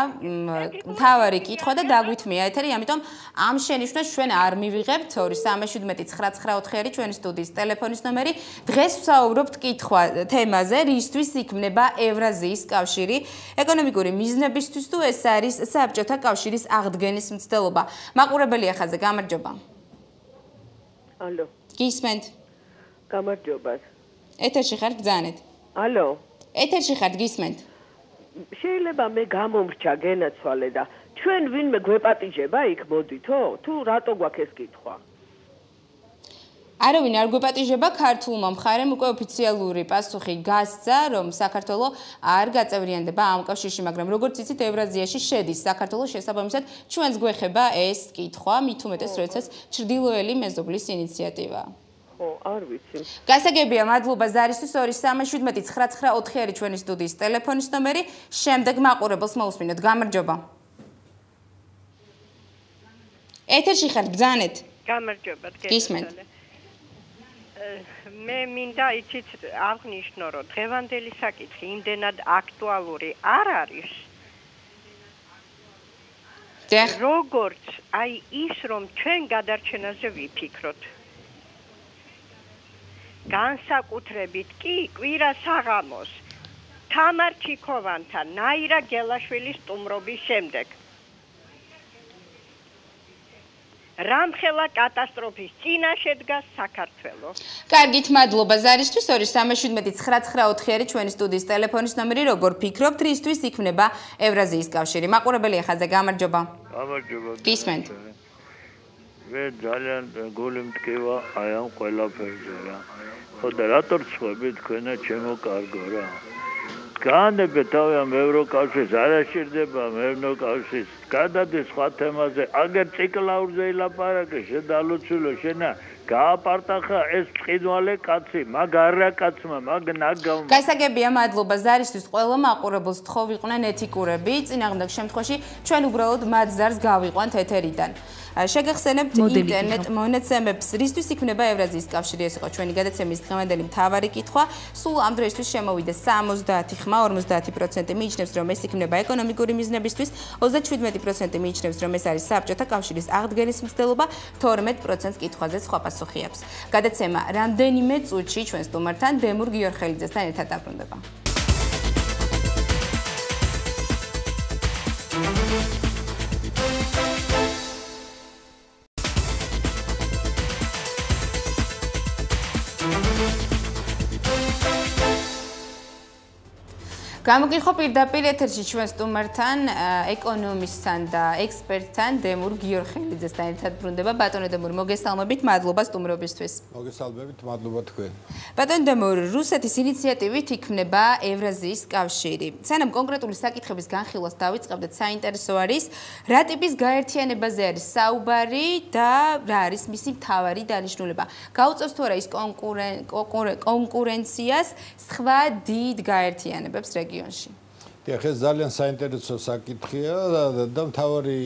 S1: მთავარი კითხვა და დაგვითმია ეთერი, ამიტომ ამ შენიშვნას ჩვენ არ მივიღებთ. ორი სამი შვიდმეტი ცხრა ცხრა ოთხი არის ჩვენი სტუდიის ტელეფონის ნომერი. დღეს ვსაუბრობთ კითხვა თემაზე, რისთვის იქმნება ევრაზიის კავშირი, ეკონომიკური მიზნებისთვის თუ ეს არის საბჭოთა კავშირის აღდგენის მცდელობა. მაყურებელი ახალზე გამარჯობა.
S20: ალო.
S1: გისმენთ.
S20: გამარჯობა.
S1: ეთერში ხართ, ბრძანეთ.
S20: ალო.
S1: ეთერში ხართ, გისმენთ.
S20: შეიძლება მე გამომრჩა გენაცვალე და
S21: ჩვენ ვინმე გვეპატიჟება იქ მოდითო? თუ რატო გვაქვს ეს კითხვა?
S1: არავინ არ გვეპატიჟება, ქართულმა მხარემ უკვე ოფიციალური პასუხი გასცა, რომ საქართველო არ გაწევრიანდება ამ კავშირში, მაგრამ როგორც იცით, ევრაზიაში შედის საქართველო, შესაბამისად ჩვენს გვეხება ეს კითხვა, მით უმეტეს, როდესაც ჩრდილოელი მეზობლის ინიციატივა.
S21: ხო, არ ვიცი.
S1: გასაგებია, მადლობა ზარისთვის ორი სამი შვიდმეტი ცხრა ცხრა ოთხი არის ჩვენი სტუდიის ტელეფონის ნომერი. შემდეგ მაყურებელს მოусმინოთ. გამარჯობა. ეთერში ხართ, ბრძანეთ.
S22: გამარჯობა,
S1: გისმენთ.
S22: მე მინდა იცით აღნიშნო, რომ დღევანდელი საკითხი იმდენად აქტუალური არ არის. როგორც აი ის, რომ ჩვენ გადარჩენაზე ვიფიქროთ. განსაკუთრებით კი კვირა საღამოს თამარ ჩიქოვანთან ნაირა გელაშვილის სტუმრობის შემდეგ. რამხელა კატასტროფის წინაშე დგას საქართველო.
S1: კარგით, მადლობა ზარისთვის. ორი სამი შვიდმეტი ცხრა ცხრა ოთხი არის ჩვენი სტუდიის ტელეფონის ნომერი. როგორ ფიქრობთ, რისთვის იქმნება ევრაზიის კავშირი? მაყურებელი ახალზე, გამარჯობა.
S6: გამარჯობა.
S1: გისმენთ.
S6: მე ძალიან გული მტკივა აი ამ ყველაფერზე რა. ხო და რატო რცხვები თქვენა ჩემო კარგო რა? განებე თავი ამ ევროკავშირს არ აღჭირდება ევროკავშირს გადადის სხვა თემაზე აგერ ციკლაურზე ილაპარაკე შედალოცულო შენა გააპარტახა ეს წინვალე კაცი მაგ არა კაცმა მაგ ნაგავ
S1: გასაგებია მადლობა ზარისთვის ყველა მაყურებელს თხოვიყვნენ ეთიკურები წინააღმდეგ შემთხვევაში ჩვენ უბრალოდ მათ ზარს გავიყვანთ ეთერიდან შეგახსენებთ ინტერნეტ მონაცემებს რისთვის იქმნება ევრაზიის კავშირი ეს იყო ჩვენი გადაცემის დღევანდელი მთავარი კითხვა სულ ამ დროისთვის შემოვიდა სამოცდაათი ხმა ორმოცდაათი პროცენტი მიიჩნევს რომ ეს იქმნება ეკონომიკური მიზნებისთვის ოცდაშვიდმეტი პროცენტი მიიჩნევს რომ ეს არის საბჭოთა კავშირის აღდგენის მცდელობა თორმეტ პროცენტს კითხვაზე სხვა პასუხი აქვს გადაცემა რამდენიმე წუთში ჩვენ სტუმართან დემურ გიორხელიძესთან ერთად დაბრუნდება გამოგიხო პირდაპირ ეთერში ჩვენ სტუმართან ეკონომისტთან და ექსპერტთან დემურ გიორხელიძესთან ერთად ბრუნდება ბატონო დემურ მოგესალმებით მადლობა სტუმრობისთვის
S23: მოგესალმებით მადლობა თქვენ
S1: ბატონო დემურ რუსეთის ინიციატივით იქმნება ევრაზიის კავშირი სანამ კონკრეტული საკითხების განხილვას დავიწყებდეთ საინტერესო არის რა ტიპის გაერთიანებაზე არის საუბარი და რა არის მისი მთავარი დანიშნულება გაუწევს თუ არა ის კონკურენციას სხვა დიდ გაერთიანებებს რეგიონში
S23: დიახ ეს ძალიან საინტერესო საკითხია და მთავარი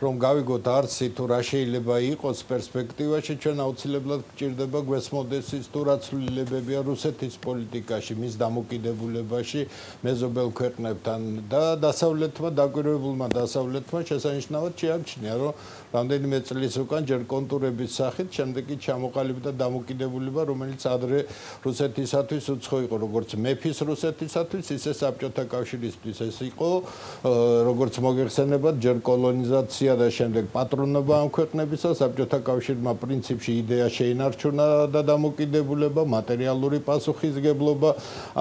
S23: რომ გავიგოთ არცი თუ რა შეიძლება იყოს პერსპექტივაში ჩვენ აუცილებლად გვჭირდება გვესმოდეს ის თუ რა ცვლილებებია რუსეთის პოლიტიკაში მის დამოკიდებულებაში მეზობელ ქვეყნებთან და დასავლეთმა დაკვირვებულმა დასავლეთმა შესანიშნავად შეამჩნია რომ რამდენიმე წლის უკან ჯერ კონტურების სახით შემდეგ კი ჩამოყალიბდა დამოკიდებულება რომელიც ადრე რუსეთისათვის უცხო იყო როგორც მეფის რუსეთისათვის ისე საბჭოთა კავშირისთვის ეს იყო როგორც მოგეხსენებათ ჯერ კოლონიზაცია და შემდეგ პატრონობა ამ ქვეყნებისა საბჭოთა კავშირმა პრინციპში იდეა შეინარჩუნა და დამოკიდებულება მატერიალური პასუხისგებლობა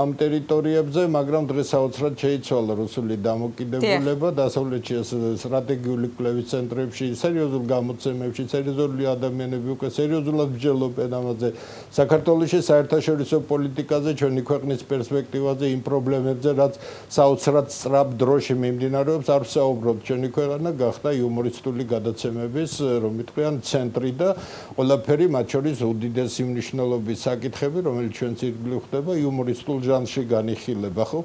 S23: ამ ტერიტორიებზე მაგრამ დღეს საოცრად შეიცვალა რუსული დამოკიდებულება დასავლეთში სტრატეგიული კვლევის ცენტრებში სერიოზულ გამოცემებში სერიოზული ადამიანები უკვე სერიოზულად მსჯელობენ ამაზე საქართველოში საერთაშორისო პოლიტიკაზე ჩვენი ქვეყნის პერსპექტივაზე იმ პრობლემებზე რაც საოცრად სწრაფ დროში მიმდინარეობს არ ვსაუბრობ ჩვენი ქვეყანა გახდა იუმორისტული გადაცემების რომ ვიტყვიან ცენტრი და ყველაფერი მათ შორის უდიდესი მნიშვნელობის საკითხები რომელიც ჩვენც ირგვლივ ხდება იუმორისტულ ჟანრში განიხილება ხო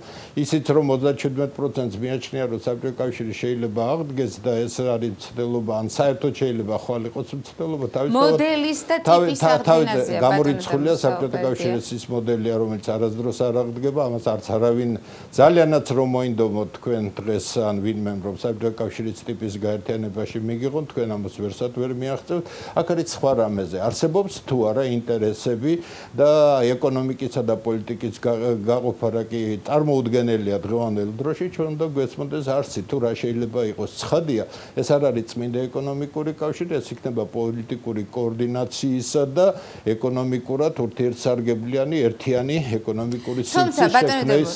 S23: ისიც რომ ოცდაშვიდმეტ პროცენტს მიაჩნია რომ საბჭოთა კავშირი შეიძლება აღდგეს და ეს არის ცდელობა ან საერთოდ შეიძლება ხვალ იყოს მცდელობა თავისთავად
S1: მოდელის და ტიპის აღდგენაზე
S23: გამორიცხულია საბჭოთა კავშირის ის მოდელია რომელიც არასდროს არ აღდგება ამას არც არავინ ძალიანაც რომ მოინდომოთ თქვენ დღეს ან ვინმე რომ საბჭოთა კავშირის ტიპის გაერთიანებაში მიგიღონ თქვენ ამას ვერსად ვერ მიაღწევთ აქ არის სხვა რამეზე არსებობს თუ არა ინტერესები და ეკონომიკისა და პოლიტიკის გაყოფა რა კი წარმოუდგენელია დღევანდელ დროში ჩვენ უნდა გვესმოდეს არსი თუ რა შეიძლება იყოს ცხადია ეს არ არის წმინდა ეკონომიკური კავშირი ეს იქნება პოლიტიკური კოორდინაციისა და ეკონომიკურად ურთიერთსარგებლიანი ერთიანი ეკონომიკური სივრცის შექმნის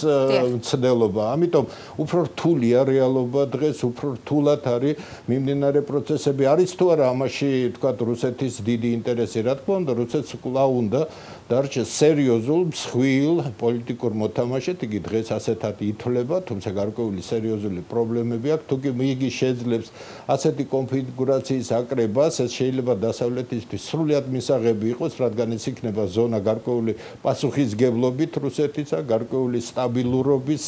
S23: მცდელობა ამიტომ უფრო რთულია რეალობა დღეს, უფრო რთულად არის მიმდინარე პროცესები. არის თუ არა ამაში თქვა რუსეთის დიდი ინტერესი, რა თქმა უნდა, რუსეთს კვლავ უნდა დარჩეს სერიოზულ მსხვილ პოლიტიკურ მოთამაშედ, იგი დღეს ასეთად ითვლება, თუმცა გარკვეული სერიოზული პრობლემები აქვს. თუ კი იგი შეძლებს ასეთი კონფიგურაციის აკრებას, ეს შეიძლება დასავლეთისთვის სრულიად მისაღები იყოს, რადგან ეს იქნება ზონა გარკვეული პასუხისგებლობით რუსეთისა, გარკვეული სტაბილურობის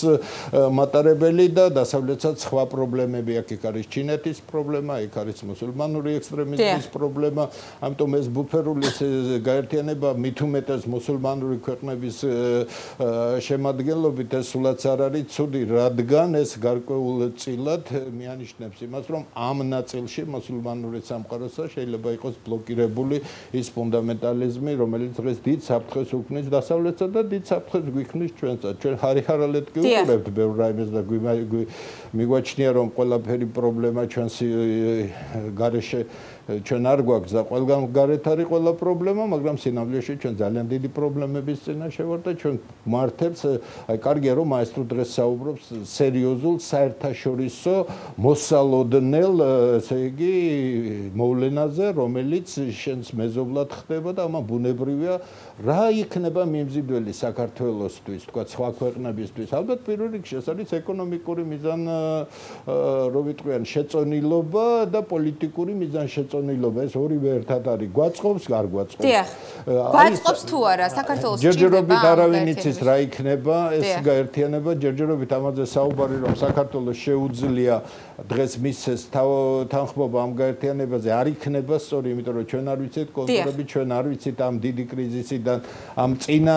S23: მატარებელი და დასავლეთსაც სხვა პრობლემები აქვს. იქ არის ჩინეთის პრობლემა, იქ არის მუსულმანური ექსტრემიზმის პრობლემა, ამიტომ ეს ბუფერული გაერთიანება მით უმეტეს მუსულმანური ქვეყნების შემადგენლობით ეს სულაც არ არის ცუდი, რადგან ეს გარკვეულწილად მიანიშნებს იმას, რომ ამ ნაწილში მუსულმანური სამყაროსა შეიძლება იყოს ბლოკირებული ის ფუნდამენტალიზმი, რომელიც დღეს დიდ საფრთხეს უქმნის დასავლეთსა და დიდ საფრთხეს გვიქმნის ჩვენსაც. ჩვენ ხარიხარალეთ კი უყურებთ ბევრ რაიმეს და მიგვაჩნია, რომ ყველაფერი პრობლემა ჩვენს გარეშე ჩვენ არ გვაქვს და ყველგან გარეთ არის ყველა პრობლემა, მაგრამ სინამდვილეში ჩვენ ძალიან დიდი პრობლემების წინაშე ვართ და ჩვენ მართებს, აი კარგია რომ მაესტრო დღეს საუბრობს სერიოზულ საერთაშორისო მოსალოდნელ, ესე იგი, მოვლენაზე, რომელიც შენს მეზობლად ხდება და ამან ბუნებრივია რა იქნება მიმზიდველი საქართველოსთვის, თქვა სხვა ქვეყნებისთვის. ალბათ პირველ რიგში ეს არის ეკონომიკური მიზან, რო ვიტყვიან, შეწონილობა და პოლიტიკური მიზან შეწონილობა. ეს ორივე ერთად არის. გვაწყობს, არ გვაწყობს.
S1: დიახ. გვაწყობს თუ არა საქართველოს ჭირდება?
S23: ჯერჯერობით არავინ იცის რა იქნება ეს გაერთიანება, ჯერჯერობით ამაზე საუბარი რომ საქართველოს შეუძლია დღეს მისცეს თანხმობა ამ გაერთიანებაზე არ იქნება სწორი, იმიტომ რომ ჩვენ არ ვიცით კონტურები, ჩვენ არ ვიცით ამ დიდი კრიზისიდან, ამ წინა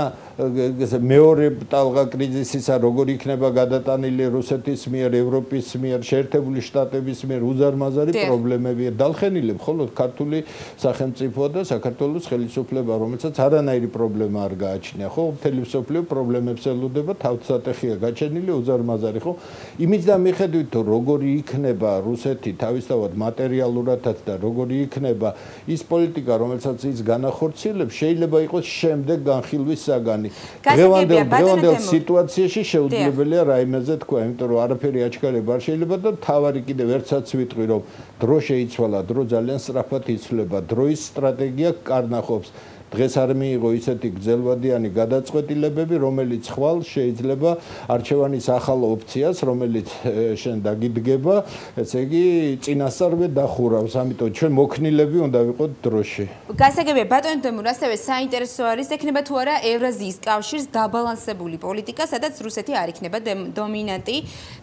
S23: მეორე ტალღა კრიზისისა როგორ იქნება გადატანილი რუსეთის მიერ, ევროპის მიერ, შეერთებული შტატების მიერ უზარმაზარი პრობლემებია დალხენილი მხოლოდ ქართული სახელმწიფო და საქართველოს ხელისუფლება, რომელსაც არანაირი პრობლემა არ გააჩნია, ხო? მთელი მსოფლიო პრობლემებს ელოდება, თავსატეხია გაჩენილი უზარმაზარი, ხო? იმის და მიხედვით თუ როგორი იქნება რუსეთი თავისთავად მატერიალურადაც და როგორი იქნება ის პოლიტიკა, რომელსაც ის განახორციელებს, შეიძლება იყოს შემდეგ განხილვის საგანი. დღევანდელ დღევანდელ სიტუაციაში შეუძლებელია რაიმეზე თქვა, იმიტომ რომ არაფერი აჩქარება არ შეიძლება და თავარი კიდევ ერთსაც ვიტყვი, რომ დრო შეიცვალა, დრო ძალიან სწრაფად იცვლება, დროის სტრატეგია კარნახობს. დღეს არ მიიღო ისეთი გრძელვადიანი გადაწყვეტილებები, რომელიც ხვალ შეიძლება არჩევანის ახალ ოფციას, რომელიც შენ დაგიდგება, ესე იგი წინასწარვე დახურავს, ამიტომ ჩვენ მოქნილები უნდა ვიყოთ დროში.
S1: გასაგებია, ბატონო დემურ, ასევე საინტერესო არის, ექნება თუ არა ევრაზიის კავშირს დაბალანსებული პოლიტიკა, სადაც რუსეთი არ იქნება დომინანტი.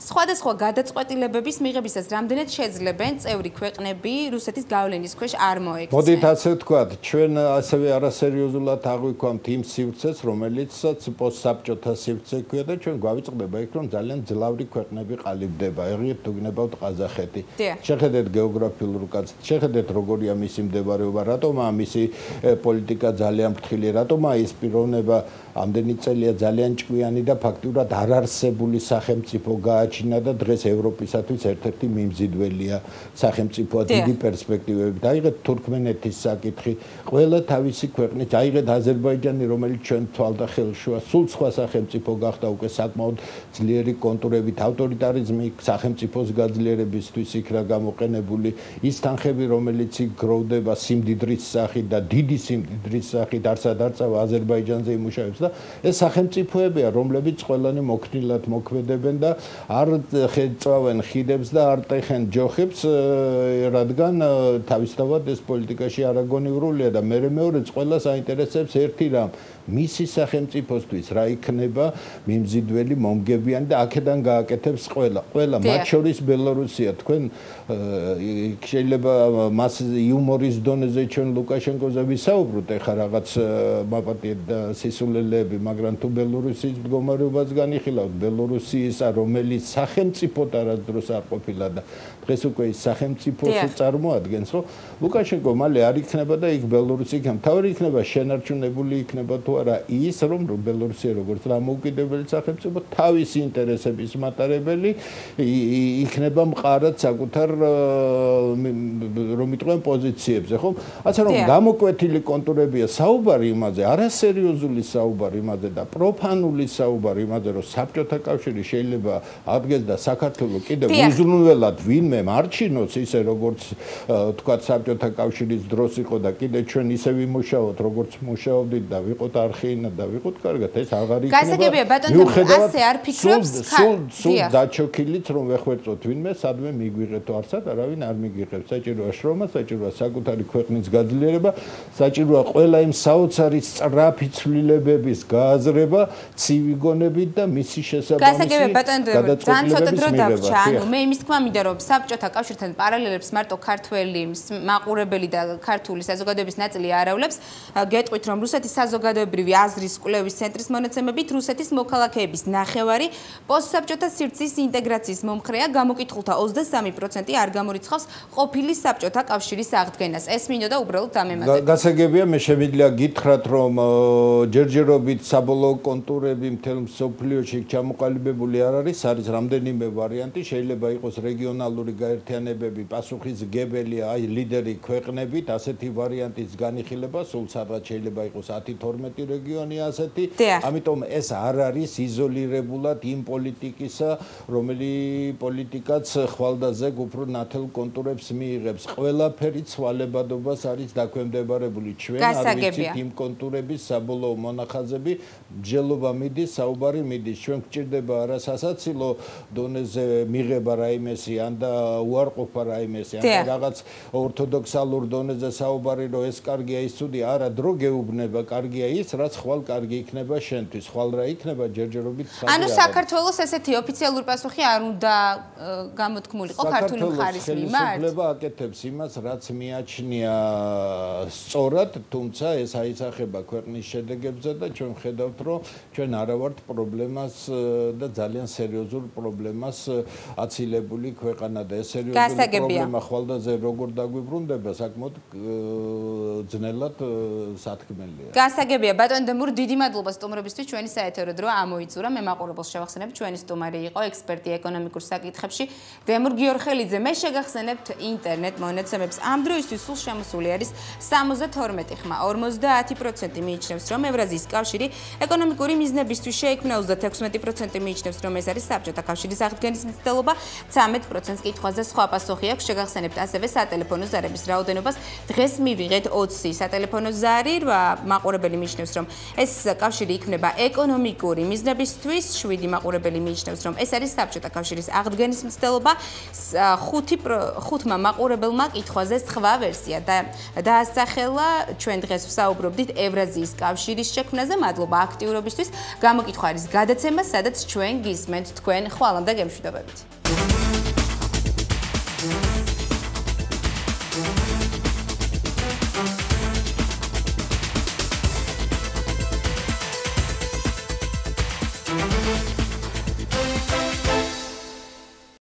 S1: სხვადასხვა გადაწყვეტილებების მიღებისას რამდენად შეძლებენ წევრი ქვეყნები რუსეთის გავლენის ქვეშ არ მოექცნენ?
S23: მოდით ასე ვთქვათ, ჩვენ ასევე არა სერიოზულად აღვიქვამთ იმ სივრცეს, რომელიცაც პოსტსაბჭოთა სივრცე ქვია და ჩვენ გვავიწყდება იქ, რომ ძალიან ძლავრი ქვეყნები ყალიბდება. ეგრეთ თუ გნებავთ ყაზახეთი. შეხედეთ გეოგრაფიულ კაცთ, შეხედეთ როგორია მისი მდებარეობა, რატომაა მისი პოლიტიკა ძალიან ფრთხილი, რატომაა ის პიროვნება ამდენი წელია ძალიან ჭკვიანი და ფაქტურად არარსებული სახელმწიფო გააჩინა და დღეს ევროპისათვის ერთ-ერთი მიმზიდველია სახელმწიფოა დიდი პერსპექტივებით. აიღეთ თურქმენეთის საკითხი, ყველა თავისი ქვეყნით, აიღეთ აზერბაიჯანი, რომელიც ჩვენ თვალდახელშუა, სულ სხვა სახელმწიფო გახდა უკვე საკმაოდ ძლიერი კონტურებით, ავტორიტარიზმი სახელმწიფოს გაძლიერებისთვის იქ რა გამოყენებული, ის თანხები, რომელიც იქ გროვდება სიმდიდრის სახით და დიდი სიმდიდრის სახით, არსად არწავა აზერბაიჯანზე იმუშავებს და ეს სახელმწიფოებია, რომლებიც ყველანი მოქნილად მოქმედებენ და არ წავენ ხიდებს და არ ტეხენ ჯოხებს, რადგან თავისთავად ეს პოლიტიკაში არაგონივრულია და მე მეორეც ყველას აინტერესებს ერთი რამ, მისი სახელმწიფოსთვის რა იქნება მიმზიდველი მომგებიანი და აქედან გააკეთებს ყველა. ყველა, მათ შორის ბელორუსია, თქვენ შეიძლება მას იუმორის დონეზე ჩვენ ლუკაშენკოზე ვისაუბროთ, ეხლა რაღაც მაპატიეთ სისულელეები, მაგრამ თუ ბელორუსიის მდგომარეობას განიხილავთ, ბელორუსიისა, რომელიც სახელმწიფოდ არასდროს არ ყოფილა და დღეს უკვე ის სახელმწიფოს წარმოადგენს, ხო? ლუკაშენკო მალე არ იქნება და იქ ბელორუსი იქნება. თავი იქნება იქნება შენარჩუნებული იქნება თუ არა ის რომ ბელორუსია როგორც დამოუკიდებელი სახელმწიფო თავისი ინტერესების მატარებელი იქნება მყარად საკუთარ რომ იტყვენ პოზიციებზე ხო ასე რომ გამოკვეთილი კონტურებია საუბარი იმაზე არასერიოზული საუბარი იმაზე და პროფანული საუბარი იმაზე რომ საბჭოთა კავშირი შეიძლება აღდგეს და საქართველოს კიდევ უზრუნველად ვინმე მარჩინოს ისე როგორც თქვა საბჭოთა კავშირის დროს იყო და კიდე ჩვენ ისე ვიმუშაოთ როგორც მუშაობდით და ვიყოთ არხეინა და ვიყოთ კარგად ეს აღარ იქნება
S1: გასაგებია ბატონო ასე არ ფიქრობს
S23: სულ სულ დაჩოქილით რომ ვეხვერწოთ ვინმე სადმე მიგვიღეთო არსად არავინ არ მიგიღებს საჭიროა შრომა საჭიროა საკუთარი ქვეყნის გაძლიერება საჭიროა ყველა იმ საოცარი სწრაფი ცვლილებების გააზრება ცივი გონებით და მისი შესაბამისი
S1: გასაგებია ბატონო ძალიან ცოტა დრო დავრჩა ანუ მე იმის თქმა მინდა რომ საბჭოთა კავშირთან პარალელებს მარტო ქართველი მაყურებელი და ქართული საზოგადოების ნაწილი არავლებს გეტყვით რომ რუსეთის საზოგადოებრივი აზრის კვლევის ცენტრის მონაცემებით რუსეთის მოქალაქეების ნახევარი პოსტსაბჭოთა სივრცის ინტეგრაციის მომხრეა გამოკითხულთა ოცდასამი პროცენტი არ გამორიცხავს ყოფილი საბჭოთა კავშირის აღდგენას ეს მინდოდა უბრალოდ დამემატებინა
S23: გასაგებია მე შემიძლია გითხრათ რომ ჯერჯერობით საბოლოო კონტურები მთელ მსოფლიოში ჩამოყალიბებული არ არის არის რამდენიმე ვარიანტი შეიძლება იყოს რეგიონალური გაერთიანებები პასუხისმგებელი აი ლიდერი ქვეყნებით ასეთი ვარიანტის განიხილება სულ სადღაც შეიძლება იყოს ათი თორმეტი რეგიონი ასეთი ამიტომ ეს არ არის იზოლირებულად იმ პოლიტიკისა რომელი პოლიტიკაც ხვალდაზე უფრო ნათელ კონტურებს მიიღებს ყველაფერი ცვალებადობას არის დაქვემდებარებული ჩვენ არ ვიცით იმ კონტურების საბოლოო მონახაზები მსჯელობა მიდის საუბარი მიდის ჩვენ გვჭირდება არა სასაცილო დონეზე მიღება რაიმესი ან და უარყოფა რაიმესი ან რაღაც ორთოდოქსალურ დონეზე საუბარი რომ ეს კარგია ის ცუდი არა დრო გეუბნება კარგია ის რაც ხვალ კარგი იქნება შენთვის ხვალ რა იქნება ჯერჯერობით
S1: ანუ საქართველოს ესეთი ოფიციალური პასუხი არ უნდა გამოთქმულიყო ქართული მხარის მიმართ
S23: ხელისუფლება აკეთებს იმას რაც მიაჩნია სწორად თუმცა ეს აისახება ქვეყნის შედეგებზე და ჩვენ ხედავთ რომ ჩვენ არა ვართ პრობლემას და ძალიან სერიოზულ პრობლემას აცილებული ქვეყანა და ეს სერიოზული პრობლემა ხვალდაზე როგორ დაგვიბრუნდება საკმაოდ ძნელად სათქმელია
S1: გასაგებია ბატონო დემურ დიდი მადლობა სტუმრობისთვის ჩვენი საეთერო დრო ამოიწურა მე მაყურებელს შევახსენებ ჩვენი სტუმარი იყო ექსპერტი ეკონომიკურ საკითხებში დემურ გიორხელიძე მე შეგახსენებთ ინტერნეტ მონაცემებს ამ დროისთვის სულ შემოსული არის სამოცდათორმეტი ხმა ორმოცდაათი პროცენტი მიიჩნევს რომ ევრაზიის კავშირი ეკონომიკური მიზნებისთვის შეიქმნა ოცდათექვსმეტი პროცენტი მიიჩნევს რომ ეს არის საბჭოთა კავშირის აღდგენის მცდელობა ცამეტ პროცენტს კითხვაზე სხვა პასუხი აქვს შეგახსენებთ ასევე სატელეფონო ზარების რაოდენობას დღეს მივიღეთ ოცი სატელეფონო ზარი მაყურებელი მიიჩნევს რომ ეს კავშირი იქნება ეკონომიკური მიზნებისთვის შვიდი მაყურებელი მიიჩნევს რომ ეს არის საბჭოთა კავშირის აღდგენის მცდელობა ხუთი ხუთმა მაყურებელმა კითხვაზე სხვა ვერსია და დაასახელა ჩვენ დღეს ვსაუბრობდით ევრაზიის კავშირის შექმნაზე მადლობა აქტიურობისთვის გამოკითხვა არის გადაცემა სადაც ჩვენ გისმენთ თქვენ ხვალამდე გემშვიდობებით